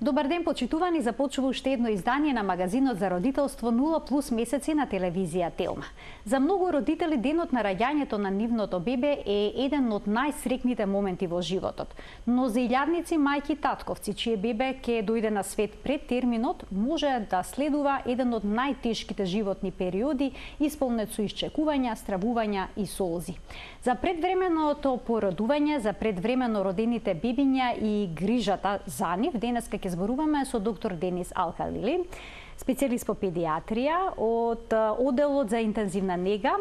Добар ден, почитувани, започува уште едно издание на магазинот за родителство 0+ месеци на телевизија Телма. За многу родители денот на раѓањето на нивното бебе е еден од најсрекните моменти во животот. Но за илјадници мајки и татковци чие бебе ќе дојде на свет пред терминот, може да следува еден од најтешките животни периоди, исполнет со исчекувања, стравувања и солзи. За предвременото породување, за предвремено родените бебиња и грижата за нив, денеска ќе зборуваме со доктор Денис Алкалили, специјалист по педиатрија од одделот за интензивна нега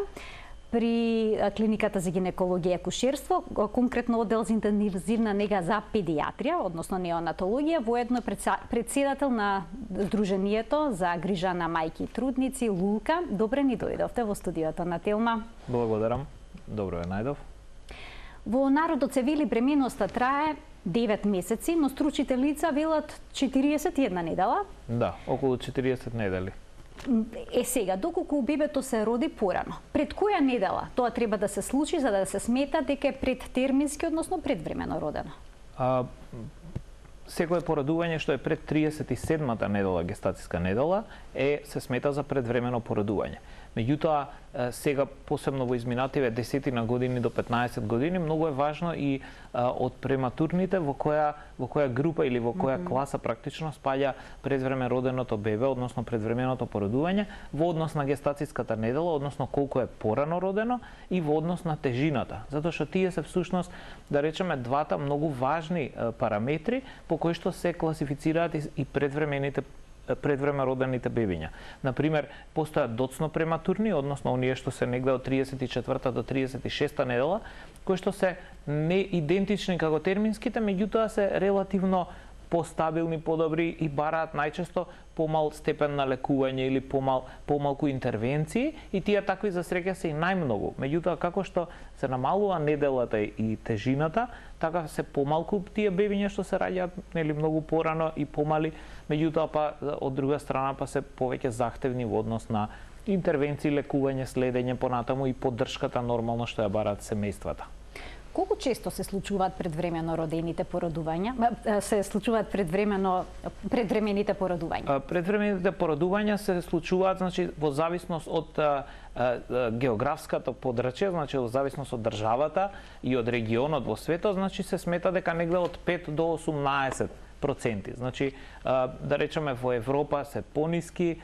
при клиниката за гинекологија и акушерство, конкретно оддел за интензивна нега за педиатрија, односно неонатологија, воедно председател на Сдруженијето за грижа на мајки и трудници Лулка. Добре ни дојдовте во студиото на Телма. Благодарам. Добро е најдов. Во народот се вели бременоста трае 9 месеци, но стручите лица велат 41 недела. Да, околу 40 недели. Сега, доколку бебето се роди порано, пред која недела тоа треба да се случи за да се смета дека е предтермински, односно предвремено родено? Секое породување што е пред 37-та недела, гестацијска недела, се смета за предвремено породување. Меѓутоа, сега посебно во изминативе 10 години до 15 години, многу е важно и од прематурните во која група или во која класа практично спаѓа предвреме роденото бебе, односно предвременото породување, во однос на гестацијската недела, односно колку е порано родено и во однос на тежината. Затоа што тие се всушност, да речеме, двата многу важни параметри по кои што се класифицираат и предвреме родените бебиња. Например, постојат доцно прематурни, односно оние што се негде од 34-та до 36-та недела, кои што се неидентични како терминските, меѓутоа се релативно постабилни, подобри и бараат најчесто помал степен на лекување или помалку интервенции, и тие такви за среќа се и најмногу. Меѓутоа, како што се намалува неделата и тежината, така се помалку тие бебиња што се раѓаат нели многу порано и помали, меѓутоа па од друга страна па се повеќе захтевни во однос на интервенции, лекување, следење понатаму и поддршката нормално што ја бараат семејствата. Колку често се случуваат предвремено родените породувања? Се случуваат предвремените породувања? Предвремените породувања се случуваат, значи, во зависност од географското подрачје, значи во зависност од државата и од регионот во светот, значи се смета дека негде од 5 до 18%. Значи, да речеме, во Европа се пониски,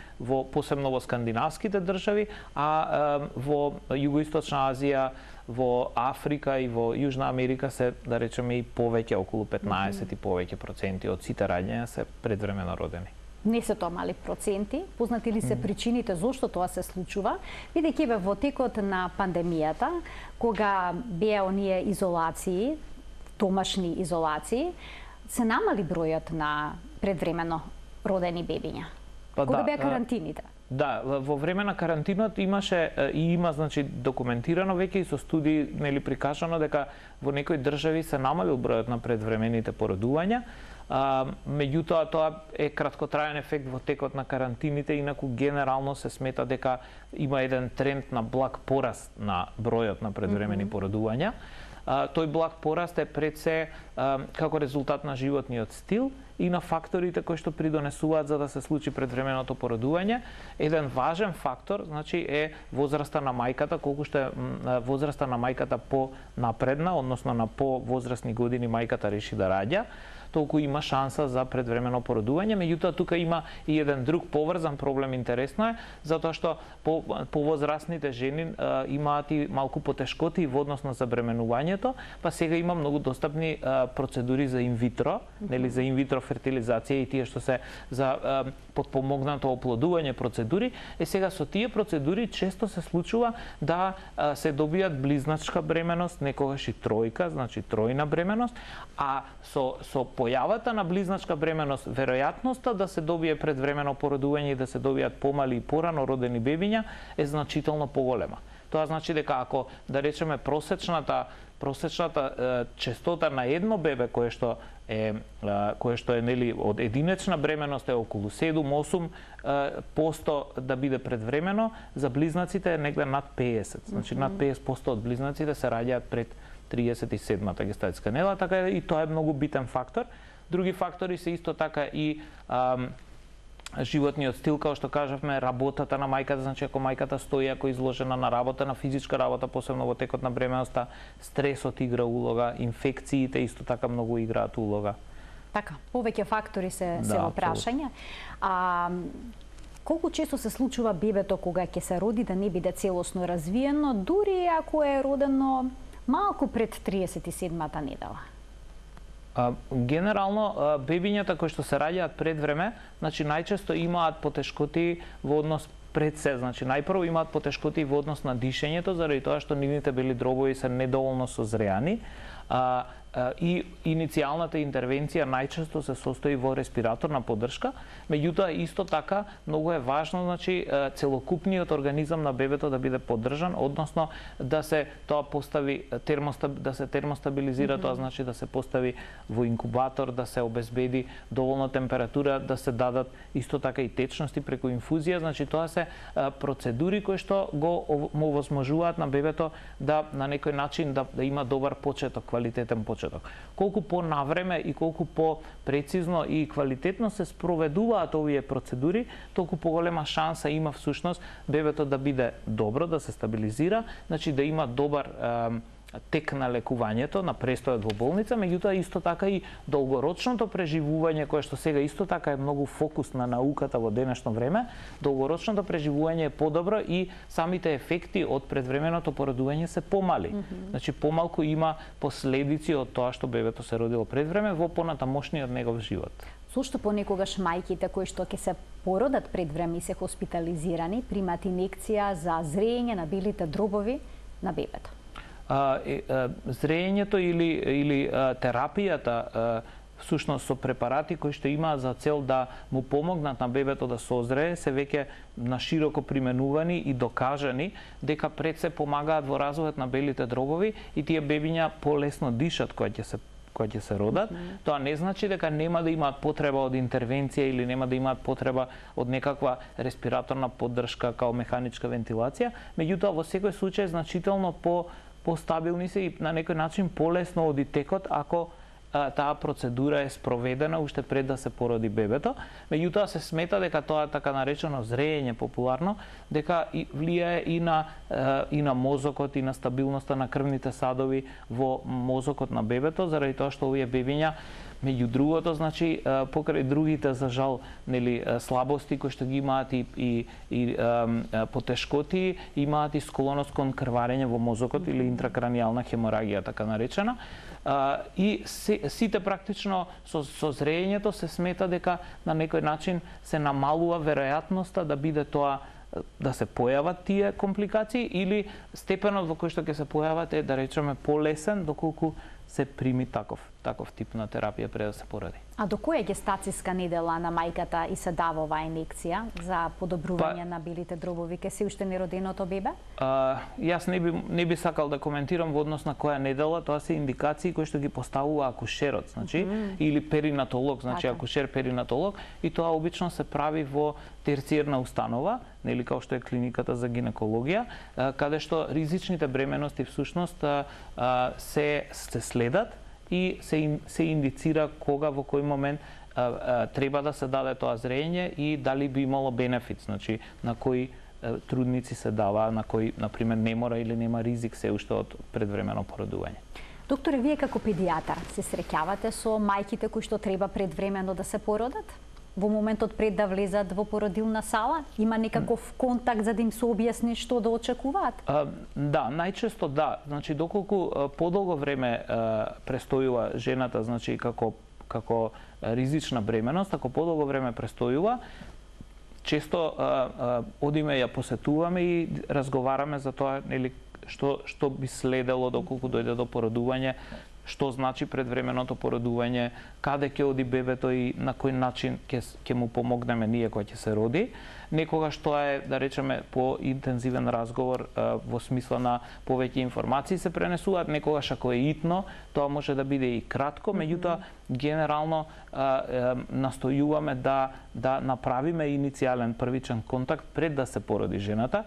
посебно во скандинавските држави, а во Југоисточна Азија, во Африка и во Јужна Америка се, да речеме, и повеќе, околу 15 и повеќе проценти од сите раѓања се предвремено родени. Не се тоа мали проценти. Познати ли се причините зошто тоа се случува? Бидејќи во текот на пандемијата, кога беа оние изолации, домашни изолации, се намали бројот на предвремено родени бебиња? Кога беа карантините? Да, во време на карантинот имаше и има, значи, документирано веќе и со студии, нели, прикажано дека во некои држави се намалил бројот на предвремените породувања. Меѓутоа, тоа е краткотраен ефект во текот на карантините, инаку генерално се смета дека има еден тренд на благ пораст на бројот на предвремени породувања. Тој благ пораст е пред се како резултат на животниот стил и на факторите кои што придонесуваат за да се случи предвременото породување. Еден важен фактор, значи, е возраста на мајката, колку што е возраста на мајката понапредна, односно на повозрастни години мајката реши да раѓа, толку има шанса за предвремено породување. Меѓутоа, тука има и еден друг поврзан проблем, интересно е, затоа што повозрастните жени имаат и малку потешкоти во однос на забременувањето, па сега има многу достапни процедури за инвитро, нели, за инвитро фертилизација и тие што се за потпомогнато оплодување процедури. Сега со тие процедури често се случува да се добијат близначка бременост, некогаш и тројка, значи тројна бременост, а со појавата на близначка бременост, веројатноста да се добие предвремено породување и да се добијат помали и порано родени бебиња е значително поголема. Тоа значи дека ако, да речеме, просечната честота на едно бебе кое што е нели од единечна бременост е околу 7-8% да биде предвремено, за близнаците е негде над 50. Значи над 50% од близнаците се раѓаат пред 37-та гестацијска недела, така и тоа е многу битен фактор. Други фактори се исто така и животниот стил, како што кажавме, работата на мајката, значи ако мајката стои, ако е изложена на работа, на физичка работа, посебно во текот на бременоста, стресот игра улога, инфекциите исто така многу играат улога. Така, повеќе фактори се во прашање. Колку често се случува бебето кога ќе се роди да не биде целосно развиено, дури ако е родено малку пред 37-та недела? Генерално, бебињата кои што се раѓаат пред време, значи најчесто имаат потешкоти во однос пред се, значи најпрво имаат потешкоти во однос на дишењето, заради тоа што нивните бели дробови се недоволно созреани, и иницијалната интервенција најчесто се состои во респираторна поддршка, меѓутоа исто така многу е важно, значи целокупниот организам на бебето да биде поддржан, односно да се тоа постави да се термостабилизира, тоа значи да се постави во инкубатор, да се обезбеди доволна температура, да се дадат исто така и течности преку инфузија, значи тоа се процедури кои што го овозможуваат на бебето да на некој начин да има добар почеток, квалитетен почеток. Колку по-навреме и колку по-прецизно и квалитетно се спроведуваат овие процедури, толку поголема шанса има всушност бебето да биде добро, да се стабилизира, значи да има добар тек на лекувањето, на престојот во болница, меѓутоа исто така и долгорочното преживување, кое што сега исто така е многу фокус на науката во денешно време, долгорочното преживување е подобро и самите ефекти од предвременото породување се помали. Значи помалку има последици од тоа што бебето се родило пред време во понатамошниот негов живот. Зошто понекогаш мајките кои што ќе се породат пред време и се хоспитализирани примаат инекција за зрење на белите дробови на бебето? Зрењето или терапијата всушност со препарати кои што имаат за цел да му помогнат на бебето да созрее, се веќе на широко применувани и докажани дека пред се помагаат во развојот на белите дробови и тие бебиња полесно дишат кога ќе се родат. Тоа не значи дека нема да имаат потреба од интервенција или нема да имаат потреба од некаква респираторна поддршка као механичка вентилација, меѓутоа во секој случај значително постабилни се и на некој начин полесно оди текот ако таа процедура е спроведена уште пред да се породи бебето. Меѓутоа се смета дека тоа така наречено зрење популарно, дека влијае и на мозокот и на стабилноста на крвните садови во мозокот на бебето, заради тоа што овие бебиња меѓу другото, значи, покрај другите, за жал, слабости кои што ги имаат и потешкоти, имаат и склоност кон крварење во мозокот или интракранијална хеморагија, така наречена. И сите практично со зрењето се смета дека на некој начин се намалува веројатноста да биде тоа да се појават тие компликации или степенот во кој што ќе се појават е, да речеме, полесен доколку се прими таков тип на терапија пред да се породи. А до која гестацијска недела на мајката и се дава оваа инекција за подобрување на белите дробови ке се уште нероденото бебе? Јас не би сакал да коментирам во однос на која недела, тоа се индикации кои што ги поставува акушерот, значи, или перинатолог, значи акушер перинатолог, и тоа обично се прави во терциерна установа, нели како што е клиниката за гинекологија, каде што ризичните бременности всушност се следат и се индицира кога, во кој момент треба да се даде тоа зрење и дали би имало бенефит, значи на кои трудници се дава, на кои, например, не мора или нема ризик се уште од предвремено породување. Докторе, вие како педијатар се среќавате со мајките кои што треба предвремено да се породат? Во моментот пред да влезат во породилна сала? Има некаков контакт за да им се објасни што да очекуваат? Да, најчесто да. Значи, доколку подолго време престојува жената, значи како ризична бременост, ако подолго време престојува, често одиме ја посетуваме и разговараме за тоа, нели, што би следело доколку дојде до породување, што значи предвременото породување, каде ќе оди бебето и на кој начин ќе му помогнеме ние кога ќе се роди. Некогаш тоа е, да речеме, по-интензивен разговор во смисла на повеќе информации се пренесуваат, некогаш ако е итно, тоа може да биде и кратко, меѓутоа генерално настојуваме да направиме иницијален првичен контакт пред да се породи жената,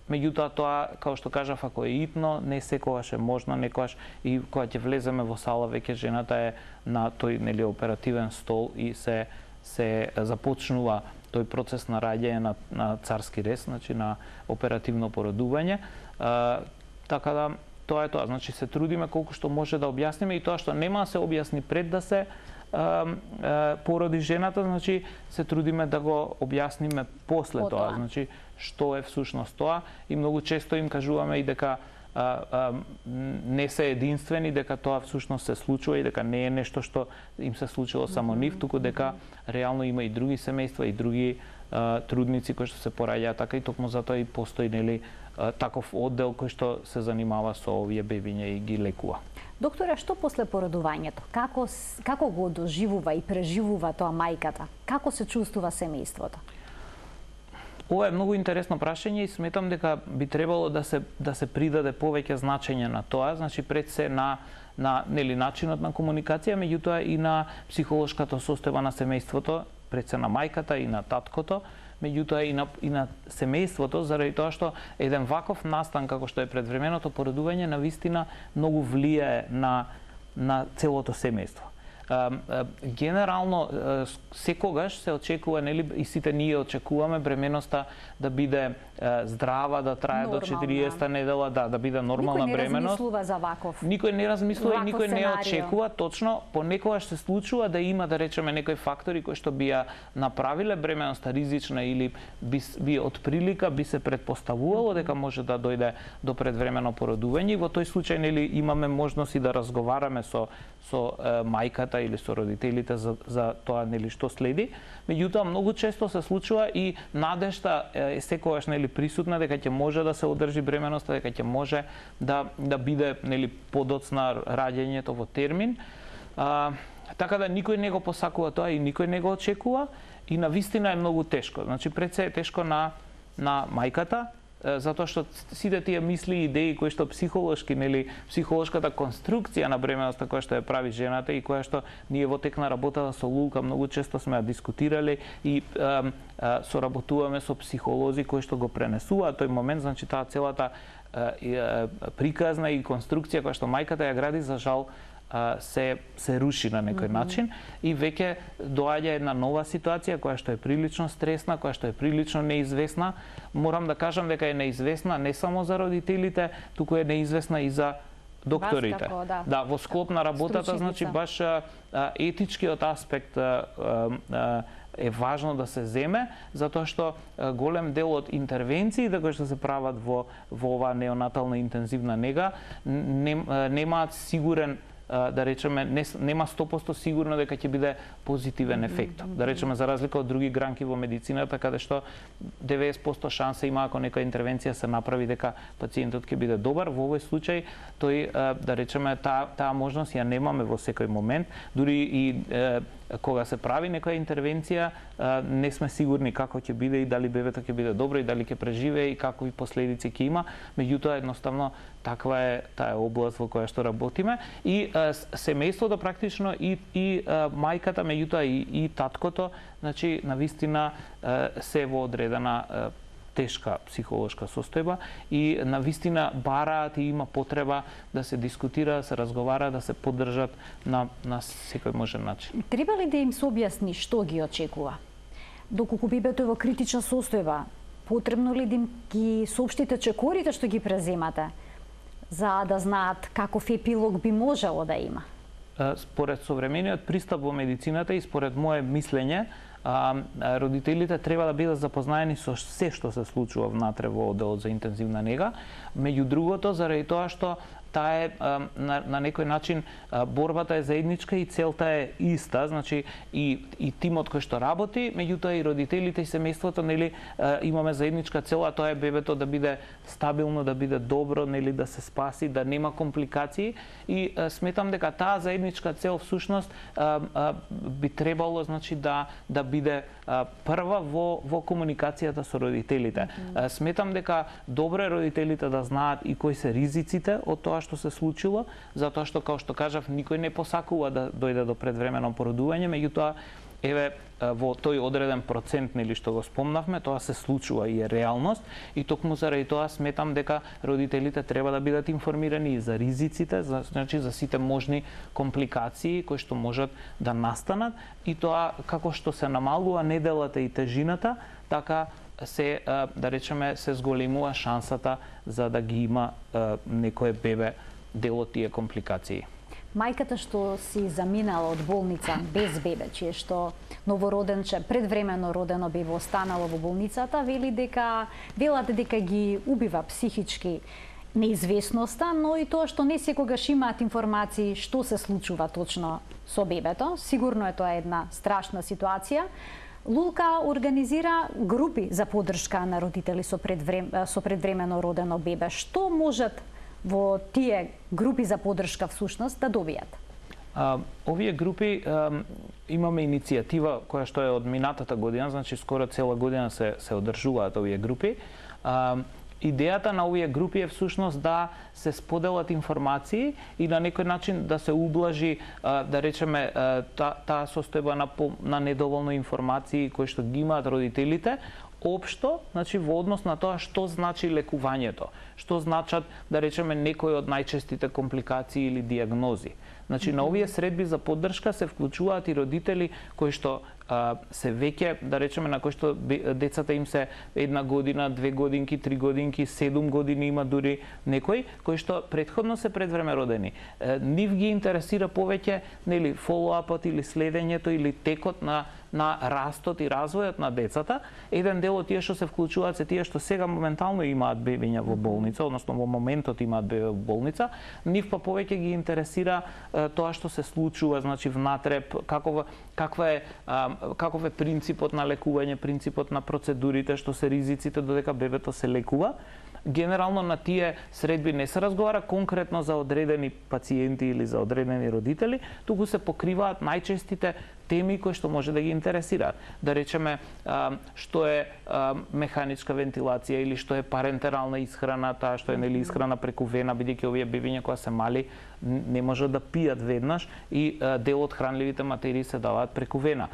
Меѓутоа тоа, како што кажав, ако е итно, не секогаш е можно, некогаш и кога ќе влеземе во сала, веќе жената е на тој оперативен стол и се започнува тој процес на раѓање на царски рез, значи на оперативно породување. Така да тоа е тоа, значи се трудиме колку што може да објасниме и тоа што нема да се објасни пред да се породи жената, значи се трудиме да го објасниме после тоа, значи што е всушност тоа и многу често им кажуваме и дека не се единствени, дека тоа всушност се случува и дека не е нешто што им се случило само нив, туку дека реално има и други семејства и други трудници кои што се пораѓаат така и токму затоа и постои таков оддел кој што се занимава со овие бебиња и ги лекува. Докторе, што после породувањето? Како го доживува и преживува тоа мајката? Како се чувствува семејството? Ова е многу интересно прашање и сметам дека би требало да се придаде повеќе значење на тоа, значи пред се на начинот на комуникација, меѓутоа и на психолошката состојба на семејството, пред се на мајката и на таткото, меѓутоа и на семејството, заради тоа што еден ваков настан како што е предвременото породување навистина многу влијае на целото семејство. Генерално секогаш се очекува, нели, и сите ние очекуваме бременоста да биде здрава, да трае до 40-та недела, да биде нормална бременост. Никој не размислува за ваков. Никој не размислува и никој не очекува, точно понекогаш се случува да има, да речеме, некои фактори кои што би ја направиле бременоста ризична или би од прилика би се предпоставувало дека може да дојде до предвремено породување и во тој случај, нели, имаме можност и да разговараме со мајката или со родителите за тоа, нели, што следи. Меѓутоа многу често се случува и надежта е секогаш, нели, присутна дека ќе може да се одржи бременоста, дека ќе може да биде, нели, подоцна раѓањето во термин. Така да никој не го посакува тоа и никој не го очекува и навистина е многу тешко. Значи пред се е тешко на мајката, затоа што сите тие мисли и идеи кои што психолошки, нели, психолошката конструкција на бременоста која што ја прави жената и која што ние во тек на работата со Лулка многу често сме ја дискутирале и соработуваме со психолози кои што го пренесуваат тој момент, значи таа целата приказна и конструкција која што мајката ја гради, за жал се руши на некој начин и веќе доаѓа една нова ситуација која што е прилично стресна, која што е прилично неизвестна. Морам да кажам дека е неизвестна не само за родителите, туку е неизвестна и за докторите. Да, во склоп на работата, значи баш етичкиот аспект е важно да се земе, затоа што голем дел од интервенциите кои што се прават во оваа неонатална интензивна нега немаат сигурен, да речеме, нема 100% сигурно дека ќе биде позитивен ефект. Да речеме, за разлика од други гранки во медицината, каде што 90% шанса има ако нека интервенција се направи дека пациентот ќе биде добар, во овој случај тој, да речеме, таа можност ја немаме во секој момент, дури и кога се прави некоја интервенција, не сме сигурни како ќе биде и дали бебето ќе биде добро и дали ќе преживее и какви последици ќе има, меѓутоа едноставно таква е таа област во која што работиме и семејството практично и мајката, меѓутоа и таткото, значи навистина се во одредена тешка психолошка состојба и навистина бараат и има потреба да се дискутира, да се разговара, да се поддржат на секој можен начин. Треба ли да им се објасни што ги очекува? Доколку бебето е во критична состојба, потребно ли да им ги соопштите чекорите што ги преземате, за да знаат каков епилог би можело да има? Според современиот пристап во медицината и според мое мислење, родителите треба да бидат запознаени со се што се случува внатре во одделот за интензивна нега, меѓу другото заради тоа што таа е на некој начин борбата е заедничка и целта е иста, значи и тимот кој што работи, меѓутоа и родителите и семејството, нели, имаме заедничка цел, а тоа е бебето да биде стабилно, да биде добро, нели, да се спаси, да нема компликации и сметам дека таа заедничка цел всушност би требало, значи, да биде прва во комуникацијата со родителите. Сметам дека добро е родителите да знаат и кои се ризиците од тоа што се случило, затоа што, како што кажав, никој не посакува да дојде до предвремено породување, меѓутоа еве во тој одреден процент нели што го спомнавме, тоа се случува и е реалност и токму заради тоа сметам дека родителите треба да бидат информирани и за ризиците, значи за сите можни компликации кои што можат да настанат и тоа како што се намалува неделата и тежината, така се да речеме се зголемува шансата за да ги има некое бебе дел од тие компликации. Мајката што си заминала од болница без бебе, чие што новороденче, предвремено родено бебе останало во болницата, велат дека ги убива психички неизвестноста, но и тоа што не секогаш имаат информации што се случува точно со бебето. Сигурно е тоа една страшна ситуација. Лулка организира групи за поддршка на родители со предвремено родено бебе. Што можат во тие групи за поддршка всушност да добијат? Овие групи имаме иницијатива која што е од минатата година, значи скоро цела година се одржуваат овие групи. Идејата на овие групи е всушност да се споделат информации и на некој начин да се ублажи, да речеме, таа состојба на недоволно информации кои што ги имаат родителите, општо, значи во однос на тоа што значи лекувањето, што значат, да речеме, некои од најчестите компликации или диагнози. Значи, на овие средби за поддршка се вклучуваат и родители кои што се веќе, да речеме, на кои што децата им се 1 година, 2 годинки, 3 годинки, 7 години има дури некои, кои што претходно се предвреме родени. Нив ги интересира повеќе, нели, фолоапот или следењето или текот на растот и развојот на децата. Еден дел од тие што се вклучуваат се тие што сега моментално имаат бебиња во болница, односно во моментот имаат бебе во болница. Нив па повеќе ги интересира тоа што се случува, значи внатре, каков е принципот на лекување, принципот на процедурите, што се ризиците додека бебето се лекува. Генерално на тие средби не се разговара конкретно за одредени пациенти или за одредени родители, туку се покриваат најчестите теми кои што може да ги интересираат. Да речеме, што е механичка вентилација или што е парентерална исхрана, таа што е нели исхрана преку вена, бидејќи овие бебиња кога се мали не можат да пијат веднаш и дел од хранливите материи се даваат преку вена.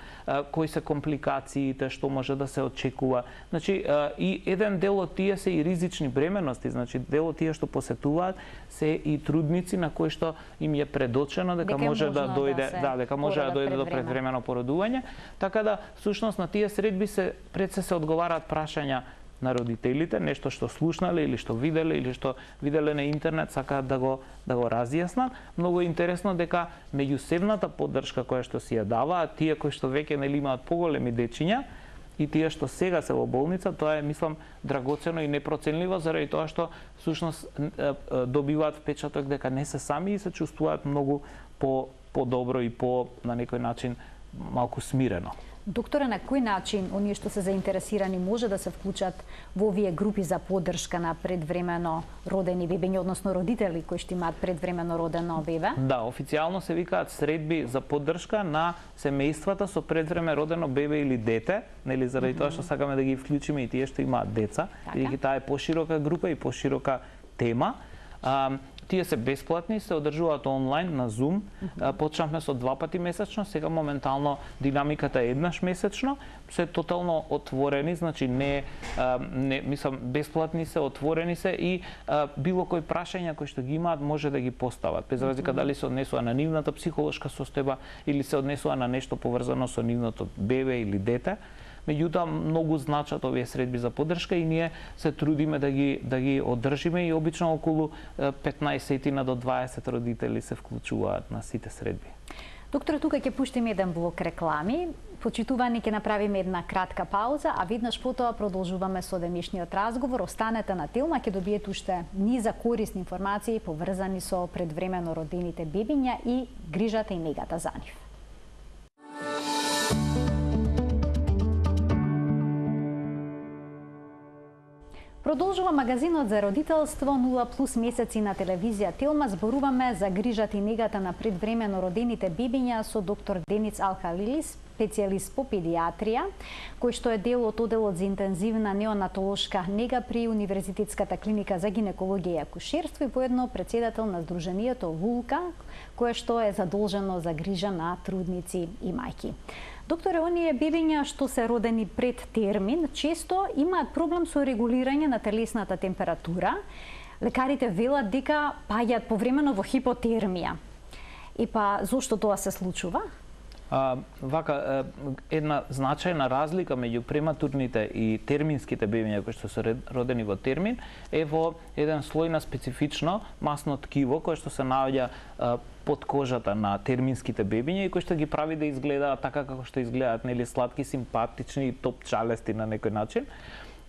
Кои се компликациите, што може да се очекува. Значи, и еден дел од тие се и ризични бременности, значи дел од тие што посетуваат се и трудници на кои што им е предочено дека може да дојде, дека може да дојде до предвремено породување, така да всушност на тие средби се одговараат прашања на родителите, нешто што слушнале или што виделе или што виделе на интернет, сакаат да го разјаснат. Многу е интересно дека меѓусебната поддршка која што си ја даваат тие кои што веќе нели имаат поголеми дечиња и тие што сега се во болница, тоа е, мислам, драгоцено и непроценливо заради тоа што всушност добиваат впечаток дека не се сами и се чувствуваат многу по-добро и на некој начин малку смирено. Докторе, на кој начин оние што се заинтересирани може да се вклучат во овие групи за поддршка на предвремено родени бебиња, односно родители кои што имаат предвремено родено бебе? Да, официјално се викаат средби за поддршка на семејствата со предвреме родено бебе или дете, нели, заради тоа што сакаме да ги вклучиме и тие што имаат деца, бидејќи таа е поширока група и поширока тема. Тие се бесплатни, се одржуваат онлайн на Zoom. Почнавме со 2 пати месечно, сега моментално динамиката е еднаш месечно. Се тотално отворени, значи мислам, бесплатни се, отворени се и било кои прашања кои што ги имаат може да ги постават. Без разлика дали се однесува на нивната психолошка состојба или се однесува на нешто поврзано со нивното бебе или дете. Меѓутоа, многу значат овие средби за поддршка и ние се трудиме да ги одржиме и обично околу 15 до 20 родители се вклучуваат на сите средби. Доктор, тука ќе пуштиме еден блок реклами. Почитувани, ќе направиме една кратка пауза, а веднаш потоа продолжуваме со денешниот разговор. Останете на Телма, ќе добиете уште низа корисни информации поврзани со предвремено родените бебиња и грижата и негата за нив. Продолжува магазинот за родителство 0+ месеци на телевизија Телма. Зборуваме за грижата и негата на предвремено родените бебиња со доктор Дениц Алхалилис, специјалист по педиатрија, кој што е дел од оделот за интензивна неонатолошка нега при Универзитетската клиника за гинекологија и акушерство и поедно председател на Сдруженијето Вулка, кое што е задолжено за грижа на трудници и мајки. Докторе, оние бебиња што се родени пред термин, често имаат проблем со регулирање на телесната температура. Лекарите велат дека паѓаат повремено во хипотермија. И па, зошто тоа се случува? Една значајна разлика меѓу прематурните и терминските бебиња кои што се родени во термин е во еден слој на специфично масно ткиво кое што се наоѓа под кожата на терминските бебиња и кој што ги прави да изгледаат така како што изгледаат, нели, сладки, симпатични и топчалести на некој начин.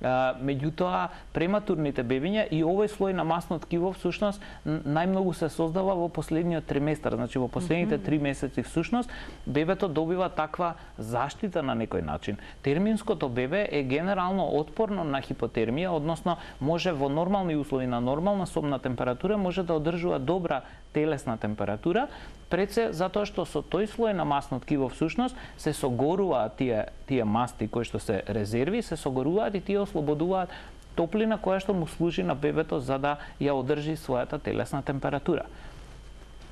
Меѓутоа, прематурните бебиња и овој слој на масно ткиво всушност најмногу се создава во последниот триместар, значи во последните 3 месеци всушност бебето добива таква заштита на некој начин. Терминското бебе е генерално отпорно на хипотермија, односно може во нормални услови на нормална собна температура може да одржува добра телесна температура, пред се затоа што со тој слој на масно ткиво всушност се согоруваат тие масти кои што се резерви, се согоруваат и тие ослободуваат топлина која што му служи на бебето за да ја одржи својата телесна температура.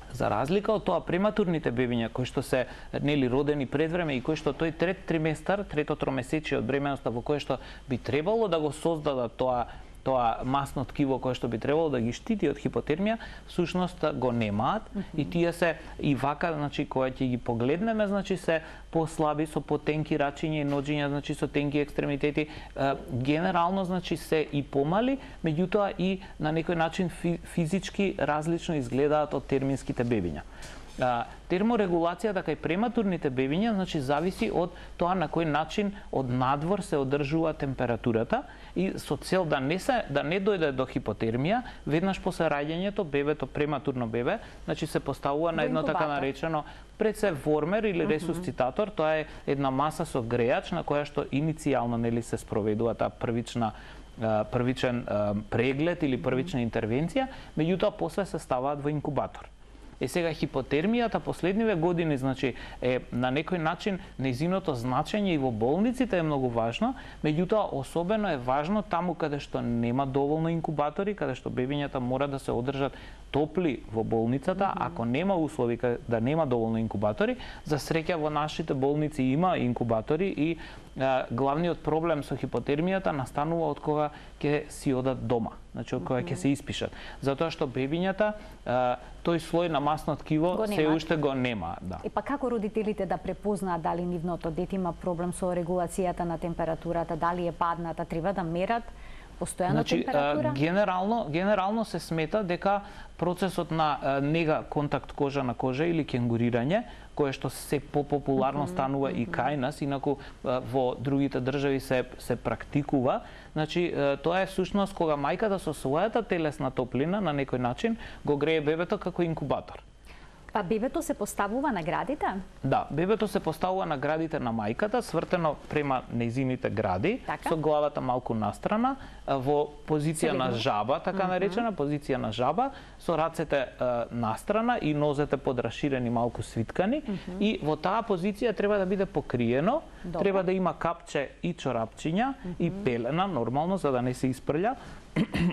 За разлика од тоа, прематурните бебиња кои што се родени пред време и кои што тој трет триместар, трето тромесечие од бременоста во кое што би требало да го создадат тоа масно ткиво кое што би требало да ги штити од хипотермија, всушност го немаат и тие се и вака, значи кога ќе ги погледнеме, значи се послаби со потенки рачиња и ноџиња, значи со тенки екстремитети, генерално значи се и помали, меѓутоа и на некој начин физички различно изгледаат од терминските бебиња. Терморегулацијата кај прематурните бебиња значи зависи од тоа на кој начин од надвор се одржува температурата и со цел да не дојде до хипотермија, веднаш после раѓањето бебето, прематурно бебе, значи се поставува на едно така наречено пред се вормер или ресусцитатор, тоа е една маса со грејач на која што иницијално нели се спроведува таа првичен преглед или првична интервенција, меѓутоа после се ставаат во инкубатор. Сега хипотермијата последниве години значи е на некој начин нејзиното значење и во болниците е многу важно, меѓутоа особено е важно таму каде што нема доволно инкубатори, каде што бебињата мора да се одржат топли во болницата, ако нема услови да нема доволно инкубатори, за среќа во нашите болници има инкубатори и главниот проблем со хипотермијата настанува од кога ќе си одат дома, значи од кога ќе се испишат. Затоа што бебињата тој слој на масно ткиво се уште го нема. И па како родителите да препознаат дали нивното дете има проблем со регулацијата на температурата, дали е падната, треба да мерат постојано температура? Генерално се смета дека процесот на нега контакт кожа на кожа или кенгурирање, кое што се попопуларно станува и кај нас, инаку во другите држави се практикува. Значи, тоа е всушност кога мајката со својата телесна топлина на некој начин го грее бебето како инкубатор. Па бебето се поставува на градите? Да, бебето се поставува на градите на мајката, свртено према нејзините гради, со главата малку настрана, во позиција на жаба, така наречена, позиција на жаба, со рацете настрана и нозете подраширени, малку свиткани, и во таа позиција треба да биде покриено, треба да има капче и чорапчиња и пелена, нормално, за да не се испрља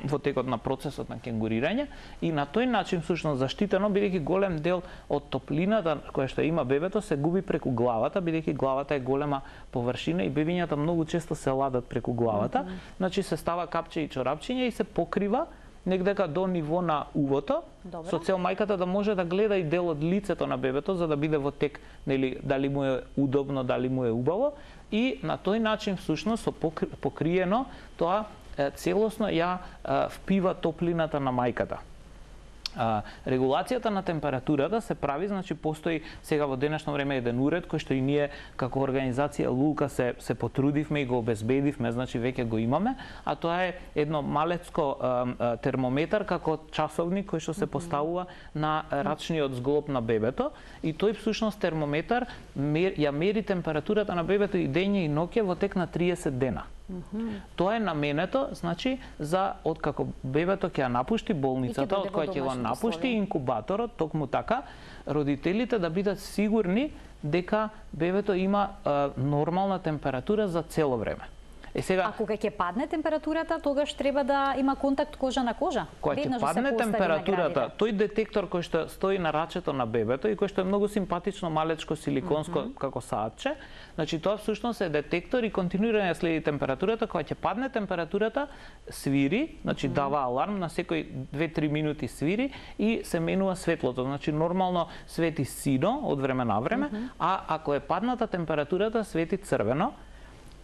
во текот на процесот на кенгурирање и на тој начин всушност заштитено, бидејќи голем дел од топлината која што има бебето се губи преку главата, бидејќи главата е голема површина и бебињата многу често се ладат преку главата, значи се става капче и чорапчиња и се покрива негдека до ниво на увото, со цел мајката да може да гледа и дел од лицето на бебето за да биде во тек, нели, дали му е удобно, дали му е убаво и на тој начин всушност со покриено тоа целосно ја впива топлината на мајката. Регулацијата на температурата се прави, значи постои сега во денешно време еден уред кој што и ние како организација Лулка се потрудивме и го обезбедивме, значи веќе го имаме, а тоа е едно малецко термометар како часовник кој што се поставува на рачниот зглоб на бебето и тој всушност термометар ја мери температурата на бебето и дење и ноќе во тек на 30 дена. Тоа е наменето, значи, за откако бебето ќе ја напушти болницата, од која ќе го напушти инкубаторот, токму така, родителите да бидат сигурни дека бебето има нормална температура за цело време. А кога ќе падне температурата, тогаш треба да има контакт кожа на кожа? Кога ќе падне температурата, тој детектор кој што стои на рачето на бебето и кој што е многу симпатично малечко силиконско како саатче, значи тоа всушност е детектор и континуирано следи температурата. Кога ќе падне температурата, свири, значи дава аларм, на секој 2-3 минути свири и се менува светлото. Значи нормално свети сино од време на време, а ако е падната температурата, свети црвено.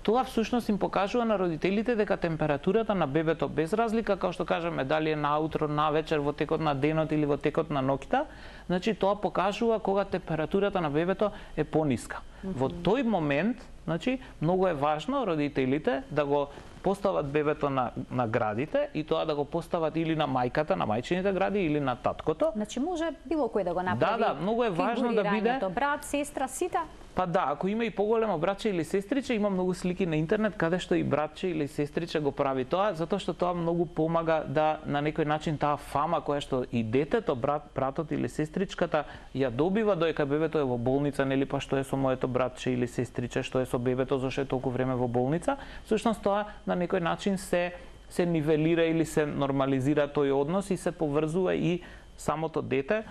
Тоа всушност им покажува на родителите дека температурата на бебето, без разлика, како што кажеме, дали е наутро, навечер, во текот на денот или во текот на ноќта, значи тоа покажува кога температурата на бебето е пониска. Во тој момент, значи, многу е важно родителите да го постават бебето на градите и тоа да го постават или на мајката, на мајчините гради или на таткото. Значи може било кој да го направи. Да, многу е важно да биде брат, сестра, сите. Па да, ако има и поголемо братче или сестриче, има многу слики на интернет каде што и братче или сестриче го прави тоа, затоа што тоа многу помага да на некој начин таа фама која што и детето, братот или сестричката ја добива додека бебето е во болница, нели, па што е со моето братче или сестриче, што е со бебето, зашто е толку време во болница, всушност тоа на некој начин се нивелира или се нормализира тој однос и се поврзува и самото дете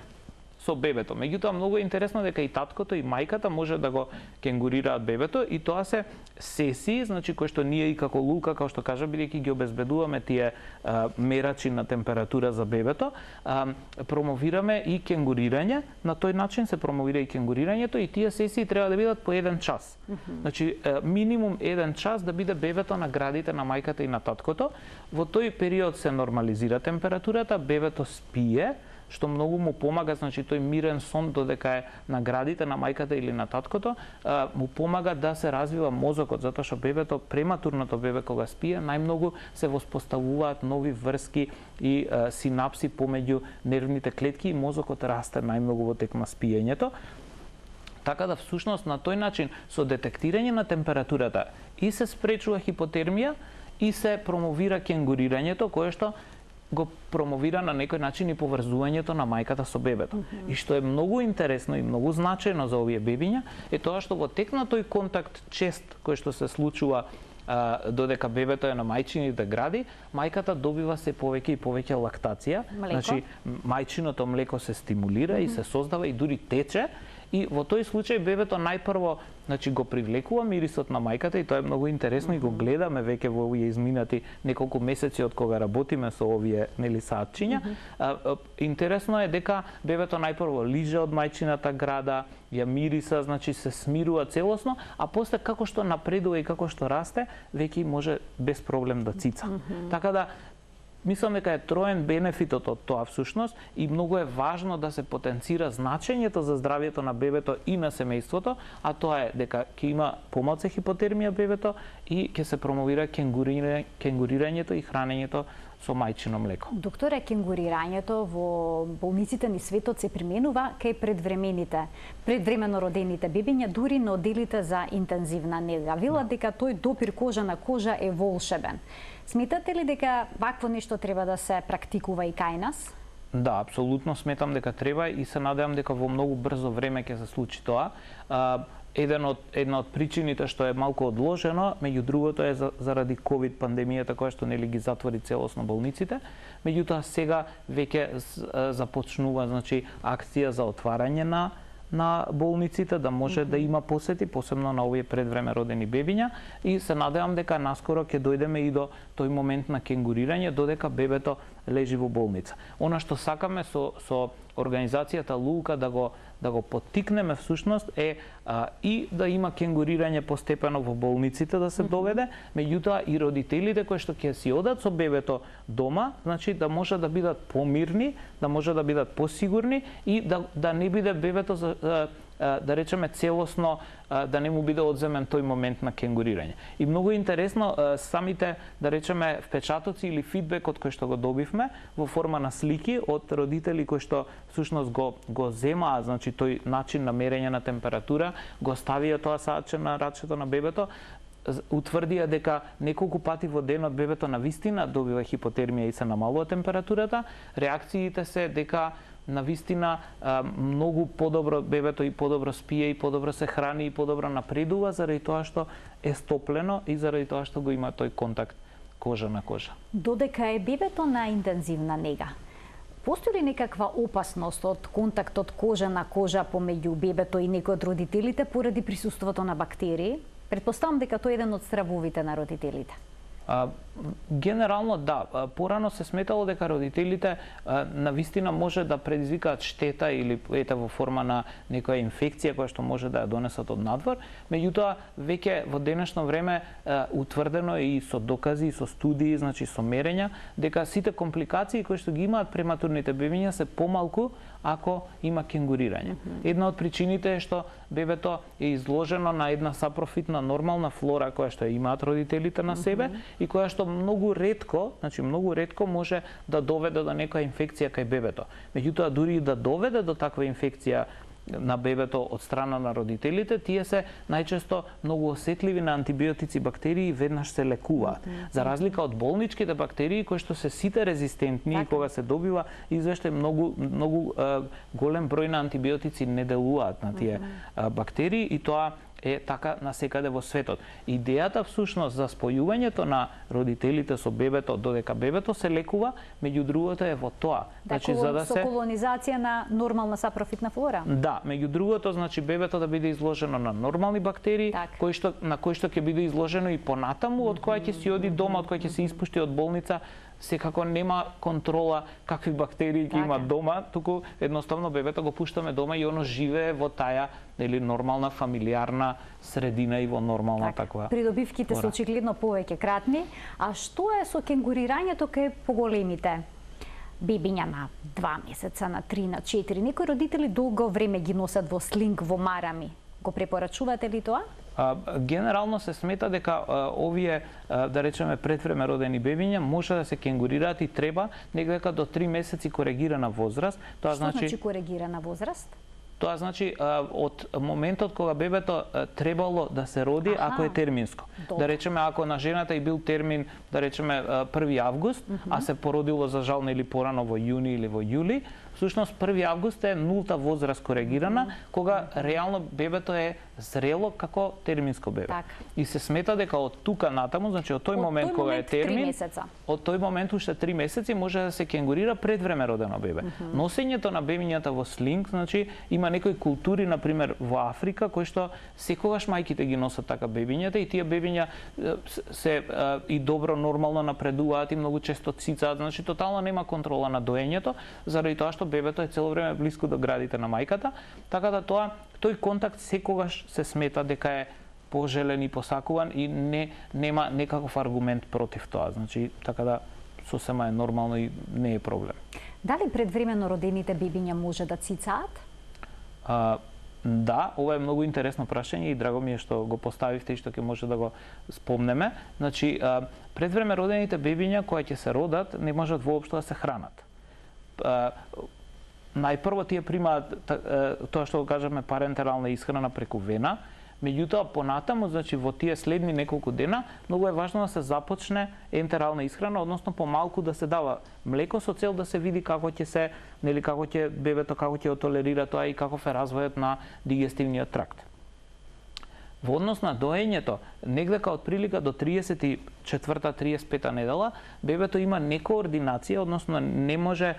со бебето. Меѓутоа многу е интересно дека и таткото и мајката може да го кенгурираат бебето и тоа се сесии, значи кои што ние и како Лука, како што кажа, бидејќи ги обезбедуваме тие мерачи на температура за бебето, промовираме и кенгурирање. На тој начин се промовира и кенгурирањето и тие сесии треба да бидат по 1 час. Значи минимум 1 час да биде бебето на градите на мајката и на таткото. Во тој период се нормализира температурата, бебето спие, што многу му помага, значи тој мирен сон додека е на градите на мајката или на таткото, му помага да се развива мозокот, затоа што бебето, прематурното бебе кога спие, најмногу се воспоставуваат нови врски и синапси помеѓу нервните клетки и мозокот расте најмногу во тек на спиењето. Така да всушност на тој начин со детектирање на температурата и се спречува хипотермија и се промовира кенгурирањето кое што го промовира на некој начин и поврзувањето на мајката со бебето. И што е многу интересно и многу значајно за овие бебиња е тоа што во тек на тој контакт чест кој што се случува додека бебето е на мајчините гради, мајката добива се повеќе и повеќе лактација. Значи мајчиното млеко се стимулира и се создава и дури тече. И во тој случај бебето најпрво, значи, го привлекува мирисот на мајката и тоа е многу интересно и го гледаме веќе во овие изминати неколку месеци од кога работиме со овие, нели, саатчиња. Интересно е дека бебето најпрво лиже од мајчината града, ја мириса, значи се смирува целосно, а после како што напредува и како што расте, веќе може без проблем да цица. Така да мислам дека е троен бенефитот од тоа всушност и многу е важно да се потенцира значењето за здравјето на бебето и на семејството, а тоа е дека ќе има помалку хипотермија бебето и ќе се промовира кенгурирањето и хранењето со мајчино млеко. Докторе, кенгурирањето во болниците ни светот се применува кај предвремено родените бебиња, дури на оделите за интензивна нега. Велат дека тој допир кожа на кожа е волшебен. Сметате ли дека вакво нешто треба да се практикува и кај нас? Да, апсолутно сметам дека треба и се надевам дека во многу брзо време ќе се случи тоа. Една од причините што е малку одложено, меѓу другото е заради ковид пандемијата која што нели ги затвори целосно болниците. Меѓутоа сега веќе започнува, значи, акција за отварање на болниците, да може да има посети, посебно на овие предвреме родени бебиња, и се надевам дека наскоро ќе дојдеме и до тој момент на кенгурирање додека бебето лежи во болница. Она што сакаме со организацијата Лука да го поттикнеме всушност е и да има кенгурирање постепено во болниците да се доведе, меѓутоа и родителите кои што ќе си одат со бебето дома, значи да може да бидат помирни, да може да бидат посигурни и да не биде бебето да речеме целосно, да не му биде одземен тој момент на кенгурирање. И многу интересно, самите, да речеме, впечатоци или фидбекот кој што го добивме во форма на слики од родители кои што всушност го земаа, значи тој начин на мерење на температура, го ставија тоа саатче на рачето на бебето, утврдија дека неколку пати во денот бебето на вистина добива хипотермија и се намалува температурата. Реакциите се дека навистина многу подобро бебето и подобро спие и подобро се храни и подобро напредува заради тоа што е стоплено и заради тоа што го има тој контакт кожа на кожа. Додека е бебето на интензивна нега, постои ли некаква опасност од контактот кожа на кожа помеѓу бебето и некој од родителите поради присуството на бактерии? Претпоставам дека тоа е еден од стравовите на родителите. Генерално да, порано се сметало дека родителите навистина може да предизвикаат штета или во форма на некоја инфекција која што може да ја донесат од надвор, меѓутоа веќе во денешно време утврдено и со докази, и со студии, значи со мерења, дека сите компликации кои што ги имаат прематурните бебиња се помалку ако има кенгурирање. Една од причините е што бебето е изложено на една сапрофитна нормална флора која што имаат родителите на себе и која што многу ретко може да доведе до некоја инфекција кај бебето. Меѓутоа дури и да доведе до таква инфекција на бебето од страна на родителите, тие се најчесто многу осетливи на антибиотици бактерии и веднаш се лекуваат. За разлика од болничките бактерии кои што се сите резистентни и кога се добива извештај многу голем број на антибиотици не делуваат на тие бактерии и тоа е така насекаде во светот. Идејата всушност за спојувањето на родителите со бебето додека бебето се лекува, меѓу другото е во тоа. Значи за да се колонизација на нормална сапрофитна флора. Да, меѓу другото значи бебето да биде изложено на нормални бактерии, на кои што ќе биде изложено и понатаму, од која ќе си оди дома, од која ќе се испушти од болница. Секако нема контрола какви бактерии ќе има дома, туку едноставно бебето го пуштаме дома и оно живее во таа нормална фамилиарна средина и во нормална таква. Придобивките се очигледно повеќе кратни, а што е со кенгурирањето кај поголемите бебиња на 2 месеца, на 3, на 4? Некои родители долго време ги носат во слинг, во марами. Го препорачувате ли тоа? Генерално се смета дека овие, да речеме, предвреме родени бебиња може да се кенгурираат и треба некако до 3 месеци коригирана возраст. Тоа значи коригирана возраст? Тоа значи од моментот кога бебето требало да се роди, ако е терминско. Да речеме, ако на жената и бил термин, да речеме 1 август, а се породило за жал или порано во јуни или во јули, всушност 1 август е нулта возраст коригирана, кога реално бебето е зрело како терминско бебе. И се смета дека од тука натаму, значи од тој момент кога е термин, од тој момент уште 3 месеци може да се кенгурира предвреме родено бебе. Носењето на бебињата во слинг, значи има некои култури, например во Африка, кои што секогаш мајките ги носат така бебињата и тие бебиња се и добро нормално напредуваат и многу често цицаат, значи тотално нема контрола на доењето, заради тоа што бебето е цело време блиску до градите на мајката, така да тој контакт секогаш се смета дека е пожелен и посакуван и нема некаков аргумент против тоа. Значи, така да сосема е нормално и не е проблем. Дали предвремено родените бебиња може да цицаат? Да, ова е многу интересно прашање и драго ми е што го поставивте и што ќе може да го спомнеме. Значи, предвреме родените бебиња кои ќе се родат не можат воопшто да се хранат. Најпрво тие примаат тоа што го кажаме парентерална исхрана преку вена, меѓутоа понатаму, значи во тие следни неколку дена, многу е важно да се започне ентерална исхрана, односно помалку да се дава млеко со цел да се види како ќе се, како ќе бебето како ќе толерира тоа и каков е развојот на дигестивниот тракт. Во однос на доењето, негдека од прилика до 34-35 недела, бебето има некоординација, односно не може,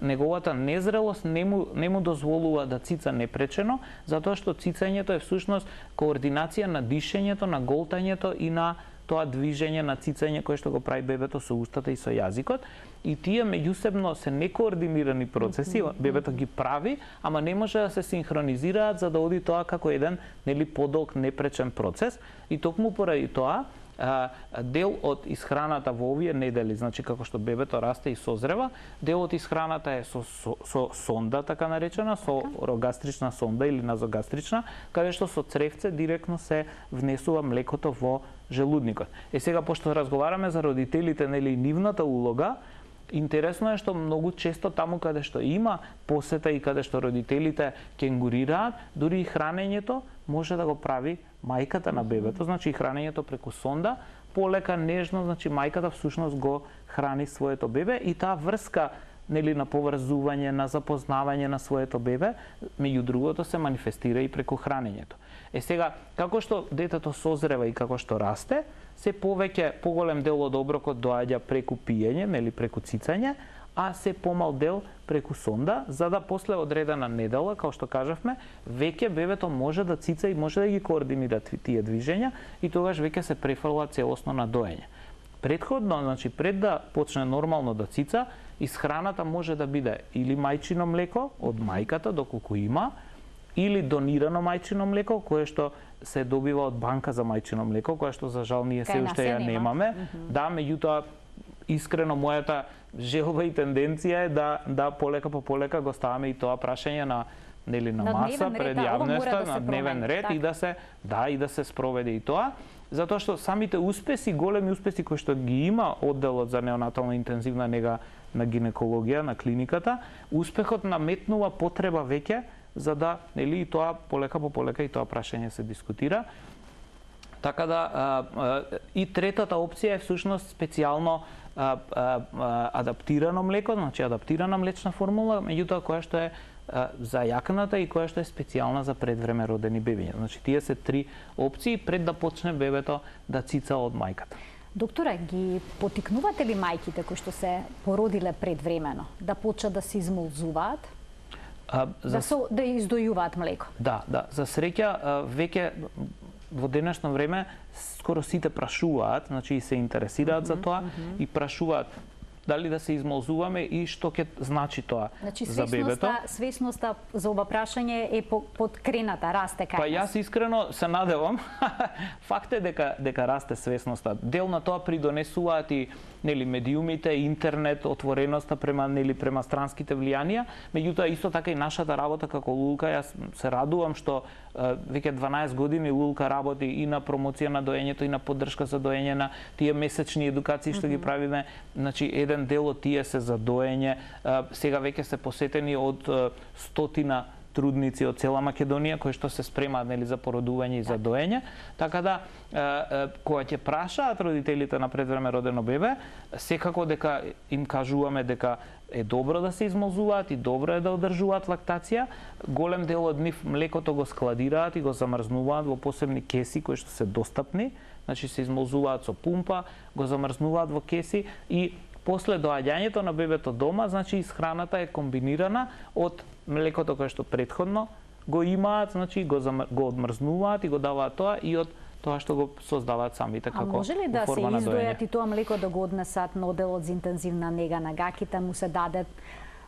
неговата незрелост не му дозволува да цица непречено, затоа што цицањето е всушност координација на дишењето, на голтањето и на тоа движење на цицање кое што го прави бебето со устата и со јазикот, и тие меѓусебно се некоординирани процеси, бебето ги прави, ама не може да се синхронизираат за да оди тоа како еден подолг непречен процес, и токму поради тоа дел од исхраната во овие недели, значи како што бебето расте и созрева, дел од исхраната е со сонда, така наречена, со орогастрична сонда или назогастрична, каде што со цревце директно се внесува млекото во желудникот. Сега, пошто разговараме за родителите, и нивната улога, интересно е што многу често таму каде што има посета и каде што родителите кенгурираат, дури и хранењето може да го прави мајката на бебето, значи и хранењето преку сонда, полека, нежно, значи мајката всушност го храни своето бебе и таа врска нели на поврзување, на запознавање на своето бебе, меѓу другото се манифестира и преку хранењето. Сега, како што детето созрева и како што расте, се повеќе поголем дел од оброкот доаѓа преку пиење, нели преку цицање, а се помал дел преку сонда, за да после одредена недела, како што кажавме, веќе бебето може да цица и може да ги координира тие движења и тогаш веќе се префрла целосно на доење. Претходно, значи пред да почне нормално да цица, исхраната може да биде или мајчино млеко од мајката доколку има, или донирано мајчино млеко кое што се добива од банка за мајчино млеко, кое што за жал ние се уште ја немаме. Да, меѓутоа искрено мојата желба и тенденција е да полека по полека го ставаме и тоа прашање на маса пред јавноста, на дневен ред и да се спроведе и тоа, затоа што самите успеси, големи успеси кои што ги има одделот за неонатална интензивна нега на гинекологија на клиниката, успехот наметнува потреба веќе за да и тоа полека по полека и тоа прашање се дискутира. Така да и третата опција е всушност специјално адаптирано млеко, значи адаптирана млечна формула, меѓутоа која што е за јакната и која што е специјална за предвреме родени бебиња. Значи тие се три опции пред да почне бебето да цица од мајката. Докторе, ги потикнувате ли мајките кои што се породиле предвремено да почнат да се измолзуваат? Да издојуваат млеко? Да. За среќа веќе во денешно време скоро сите прашуваат, значи и се интересираат за тоа и прашуваат дали да се измолзуваме и што ќе значи тоа за бебето. Свесноста за ова прашање е подкрената, расте кај нас. Па јас искрено се надевам. Факт е дека расте свесноста. Дел на тоа придонесуваат и медиумите, интернет, отвореноста према странските влијанија, меѓутоа исто така и нашата работа како Лулка, јас се радувам што веќе 12 години Лулка работи и на промоција на доењето и на поддршка за доење, на тие месечни едукации што ги правиме, значи еден дел од тие се за доење, сега веќе се посетени од 100 трудници од цела Македонија кои што се спремаат за породување и за доење, така да кога ќе прашаат родителите на предвреме родено бебе, секако дека им кажуваме дека е добро да се измолзуваат и добро е да одржуваат лактација. Голем дел од нив млекото го складираат и го замрзнуваат во посебни кеси кои што се достапни, значи се измолзуваат со пумпа, го замрзнуваат во кеси и после доаѓањето на бебето дома, значи исхраната е комбинирана од млекото кое што претходно го имаат, значи го одмрзнуваат и го даваат тоа и од тоа што го создаваат самите како форма на доење. А може ли да се издојат и тоа млеко да го однесат на одделот за интензивна нега на гаките, му се даде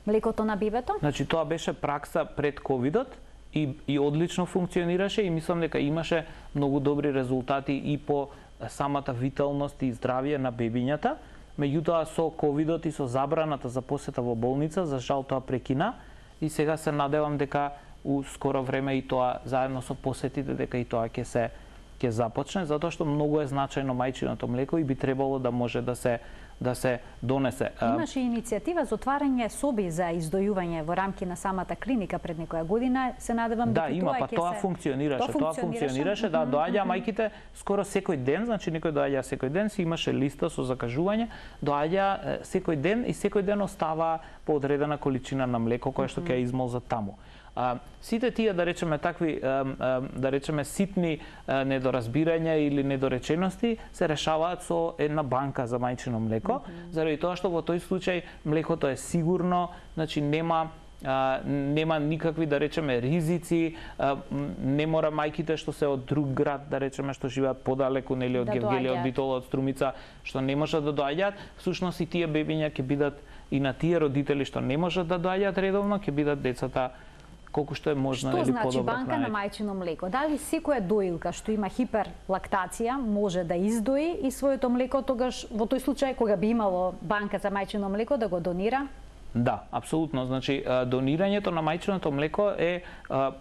млекото на бебето? Значи тоа беше пракса пред ковидот и одлично функционираше и мислам дека имаше многу добри резултати и по самата виталност и здравје на бебињата. Меѓутоа со ковидот и со забраната за посета во болница, за жал тоа прекина и сега се надевам дека у скоро време и тоа заедно со посетите дека и тоа ќе започне, затоа што многу е значајно мајчиното млеко и би требало да може да се донесе. Имаше иницијатива за отварање соби за издојување во рамки на самата клиника пред некоја година, се надевам дека има, па тоа функционираше, да, доаѓаа мајките скоро секој ден, значи некој доаѓа секој ден, си имаше листа со закажување, доаѓа секој ден и секој ден остава по одредена количина на млеко кое што ќе измолзат таму. Сите тие, да речеме, такви, да речеме, ситни недоразбирања или недоречености се решаваат со една банка за мајчино млеко, заради тоа што во тој случај млекото е сигурно, значи нема никакви, да речеме, ризици, не мора мајките што се од друг град, да речеме, што живеат подалеку, нели, од Гевгелија, од Битола, од Струмица, што не можат да доаѓаат, всушност и тие бебиња ќе бидат, и на тие родители што не можат да доаѓаат редовно, ќе бидат децата колку што е можно, или подобро. Што значи банка на мајчино млеко? Дали секоја доилка што има хиперлактација може да издои и своето млеко, тогаш во тој случај кога би имало банка за мајчино млеко да го донира? Да, апсолутно. Значи, донирањето на мајчиното млеко е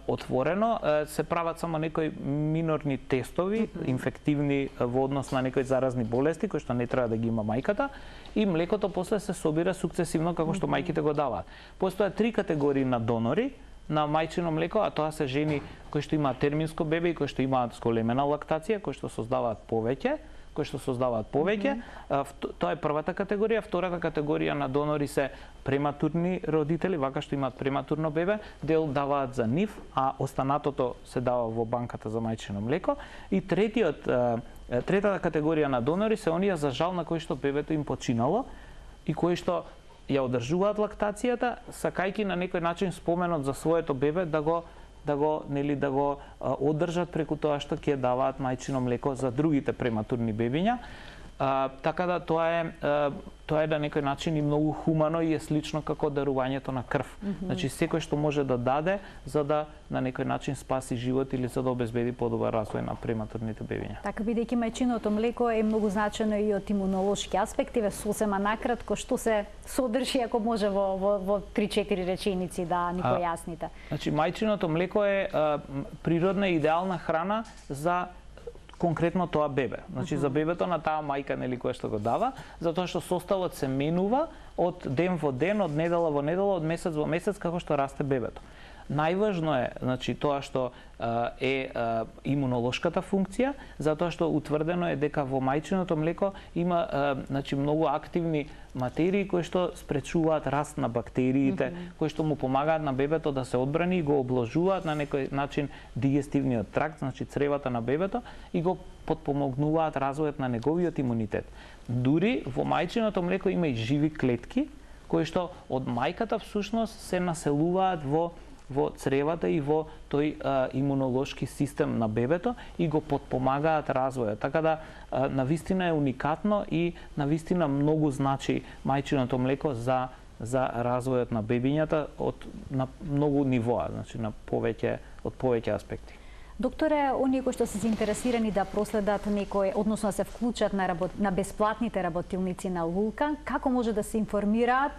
отворено, се прават само некои минорни тестови, инфективни во однос на некои заразни болести, кои што не треба да ги има мајката, и млекото после се собира сукцесивно како што мајките го даваат. Постојат 3 категории на донори. на мајчино млеко, а тоа се жени кои што имаат терминско бебе и кои што имаат зголемена лактација, кои што создаваат повеќе. Тоа е првата категорија. Втората категорија на донори се прематурни родители, вака што имаат прематурно бебе, дел даваат за нив, а останатото се дава во банката за мајчино млеко. И третата категорија на донори се оние за жал на кои што бебето им починало и кои што ја одржуваат лактацијата, сакајќи на некој начин споменот за своето бебе да го одржат преку тоа што ќе даваат мајчино млеко за другите прематурни бебиња. Така да тоа е на некој начин и многу хумано и е слично како дарувањето на крв. Значи секој што може да даде за да на некој начин спаси живот или за да обезбеди подобар развој на прематурните бебиња. Така, бидејќи мајчиното млеко е многу значено и од имунолошки аспекти, сосема накратко што се содржи, ако може во 3-4 реченици да ни појасните. Значи мајчиното млеко е природна и идеална храна за конкретно тоа бебе. Значи за бебето на таа мајка која што го дава, затоа што составот се менува од ден во ден, од недела во недела, од месец во месец како што расте бебето. Најважно е, значи, тоа што е имунолошката функција, затоа што утврдено е дека во мајчиното млеко има значи многу активни материи кои што спречуваат раст на бактериите, кои што му помагаат на бебето да се одбрани и го обложуваат на некој начин дигестивниот тракт, значи цревата на бебето и го потпомогнуваат развојот на неговиот имунитет. Дури во мајчиното млеко има и живи клетки кои што од мајката всушност се населуваат во цревата и во тој имунолошки систем на бебето и го потпомагаат развојот. Така да навистина е уникатно и навистина многу значи мајчиното млеко за развојот на бебињата на многу нивоа, значи на повеќе аспекти. Докторе, оние кои што се заинтересирани да проследат некој, односно да се вклучат на бесплатните работилници на Лулка, како може да се информираат?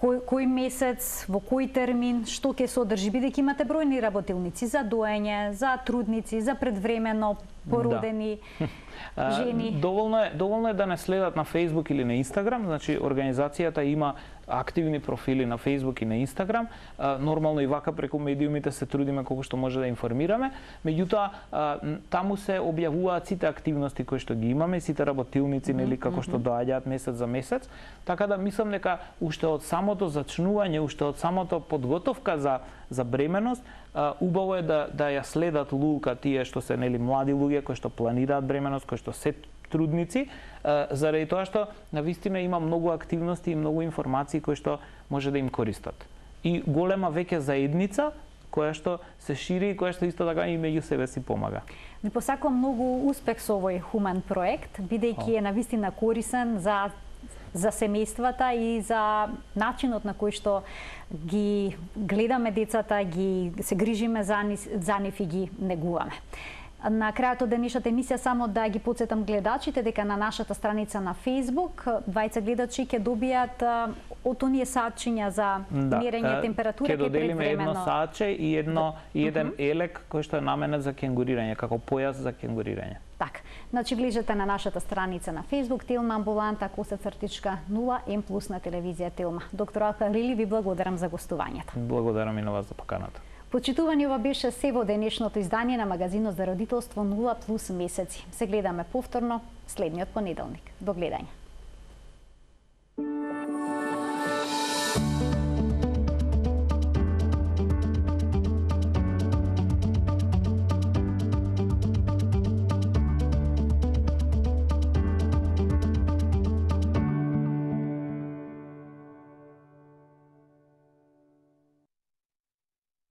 Кој месец, во кој термин, што ќе содржи, бидејќи имате бројни работилници за доење, за трудници, за предвремено породени жени. Доволно е да не следат на Facebook или на Instagram, значи организацијата има активни профили на Facebook и на Instagram. Нормално и вака преку медиумите се трудиме колку што може да информираме. Меѓутоа, таму се објавуваат сите активности кои што ги имаме, сите работилници, нели, како што доаѓаат месец за месец. Така да мислам дека уште од самото зачнување, уште од самото подготовка за бременост, убаво е да ја следат Лулка тие што се нели млади луѓе кои што планираат бременост, кои што се трудници, заради тоа што навистина има многу активности и многу информации кои што може да им користат. И голема веќе заедница која што се шири и која што исто така и меѓу себе си помага. Ви посакувам многу успех со овој хумен проект, бидејќи е навистина корисен за семејствата и за начинот на кој што ги гледаме децата, се грижиме за нив и ги негуваме. На крајот од денешната емисија само да ги потсетам гледачите дека на нашата страница на Facebook двајца гледачи ќе добијат од оние саатчиња за мерење температура ќе доделиме едно саатче и еден елек кој што е наменет за кенгурирање, како појас за кенгурирање. Така, значи влезете на нашата страница на Facebook Телма амбуланта _0M+ на телевизија Телма. Доктор Ал-Халили, ви благодарам за гостувањето. Благодарам и на вас за поканата. Почитувани, ова беше се во денешното издание на магазинот за родителство 0+ месеци. Се гледаме повторно следниот понеделник. До гледање.